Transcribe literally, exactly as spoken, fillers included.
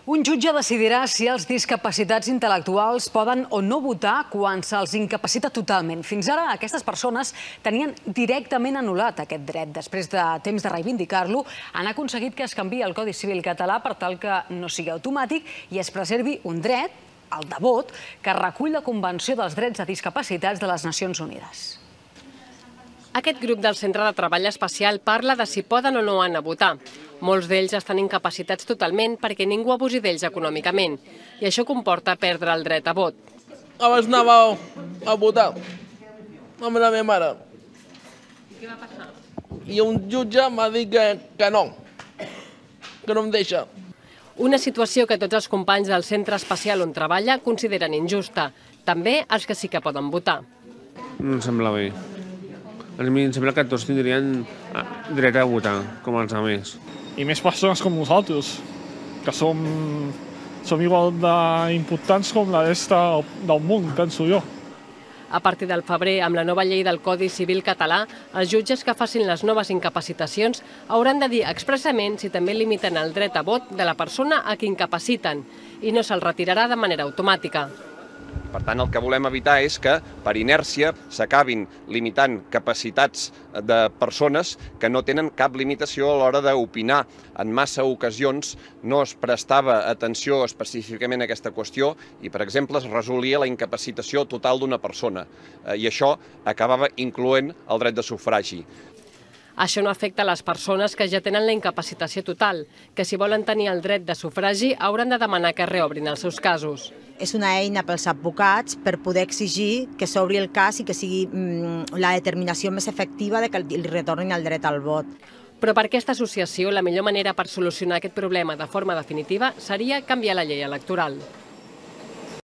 Un jutge decidirà si els discapacitats intel·lectuals poden o no votar quan se'ls incapacita totalment. Fins ara, aquestes persones tenien directament anul·lat aquest dret. Després de temps de reivindicar-lo, han aconseguit que es canviï el Codi Civil català per tal que no sigui automàtic i es preservi un dret, el de vot, que recull la Convenció dels Drets de Discapacitats de les Nacions Unides. Aquest grup del Centre de Treball Especial parla de si poden o no anar a votar. Molts d'ells estan incapacitats totalment perquè ningú abusi d'ells econòmicament i això comporta perdre el dret a vot. Abans anava a votar amb la meva mare. I què va passar? I un jutge m'ha dit que, que no, que no em deixa. Una situació que tots els companys del centre especial on treballa consideren injusta, també els que sí que poden votar. No em sembla bé. A mi em sembla que tots tindrien dret a votar, com els altres. I més persones com nosaltres, que som, som igual d'importants com la resta del món, penso jo. A partir del febrer, amb la nova llei del Codi Civil català, els jutges que facin les noves incapacitacions hauran de dir expressament si també limiten el dret a vot de la persona a qui incapaciten i no se'l retirarà de manera automàtica. Per tant, el que volem evitar és que, per inèrcia, s'acabin limitant capacitats de persones que no tenen cap limitació a l'hora d'opinar. En massa ocasions no es prestava atenció específicament a aquesta qüestió i, per exemple, es resolia la incapacitació total d'una persona. I això acabava incloent el dret de sufragi. Això no afecta les persones que ja tenen la incapacitació total, que si volen tenir el dret de sufragi hauran de demanar que reobrin els seus casos. És una eina pels advocats per poder exigir que s'obri el cas i que sigui la determinació més efectiva de que li retornin el dret al vot. Però per aquesta associació, la millor manera per solucionar aquest problema de forma definitiva seria canviar la llei electoral.